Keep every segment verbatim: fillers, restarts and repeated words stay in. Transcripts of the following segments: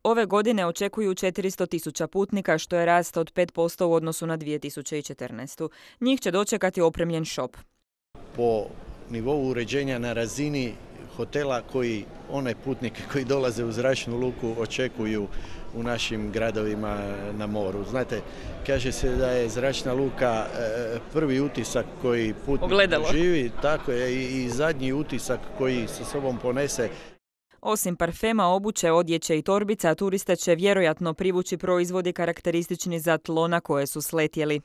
Ove godine očekuju četiristo tisuća putnika, što je rast od pet posto u odnosu na dvije tisuće četrnaestu. Njih će dočekati opremljen šop. Po nivou uređenja na razini hotela koji one putnike koji dolaze u zračnu luku očekuju u našim gradovima na moru. Znate, kaže se da je zračna luka prvi utisak koji putnik živi, tako je i zadnji utisak koji sa sobom ponese. Osim parfema, obuće, odjeće i torbica, turiste će vjerojatno privući proizvodi karakteristični za tlo na koje su sletjeli.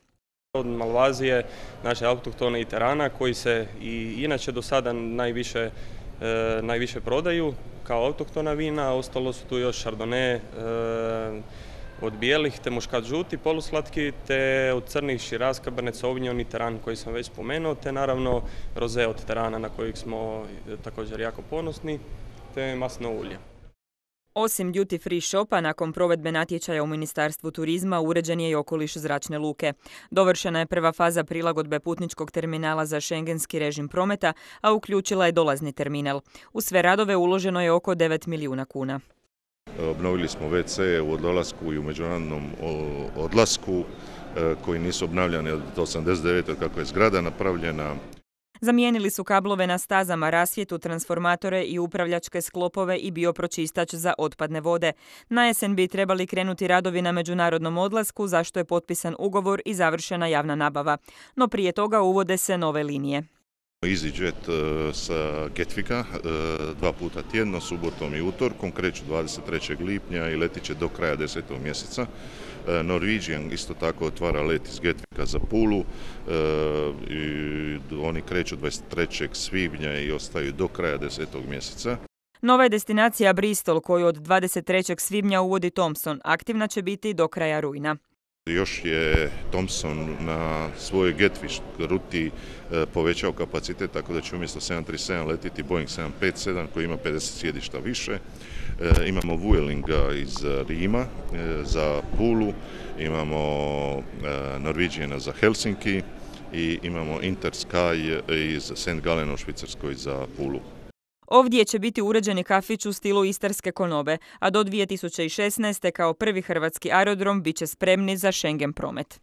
Od Malvazije, naše autohtone i terana, koji se i inače do sada najviše, e, najviše prodaju kao autohtona vina, ostalo su tu još Chardonnay, e, od bijelih te muškat žuti, poluslatki, te od crnih Shiraz, Cabernet Sauvignon i teran koji sam već spomenuo, te naravno roze od terana na kojeg smo također jako ponosni, te masno ulje. Osim duty free shopa, nakon provedbe natječaja u Ministarstvu turizma uređen je i okoliš zračne luke. Dovršena je prva faza prilagodbe putničkog terminala za šengenski režim prometa, a uključila je dolazni terminal. U sve radove uloženo je oko devet milijuna kuna. Obnovili smo ve ce u odlasku i u međunarodnom odlasku koji nisu obnavljani od osamdeset devete kako je zgrada napravljena. Zamijenili su kablove na stazama, rasvjetu, transformatore i upravljačke sklopove i biopročistač za otpadne vode. Na jesen bi trebali krenuti radovi na međunarodnom odlasku, za što je potpisan ugovor i završena javna nabava. No prije toga uvode se nove linije. EasyJet sa Gatwicka dva puta tjedno, subotom i utorkom, kreću dvadeset trećeg lipnja i letit će do kraja desetog mjeseca. Norwegian isto tako otvara let iz Gatwicka za Pulu i oni kreću dvadeset trećeg svibnja i ostaju do kraja desetog mjeseca. Nova je destinacija Bristol koju od dvadeset trećeg svibnja uvodi Thomson. Aktivna će biti do kraja rujna. Još je Thomson na svojoj Gatwick ruti povećao kapacitet, tako da će umjesto sedam trideset sedam letiti Boeing sedam pedeset sedam koji ima pedeset sjedišta više. Imamo Vuelinga iz Rima za Pulu, imamo Norwegiana za Helsinki i imamo Intersky iz Saint Gallen u Švicarskoj za Pulu. Ovdje će biti uređeni kafić u stilu istarske konobe, a do dvije tisuće šesnaeste kao prvi hrvatski aerodrom bit će spremni za Schengen promet.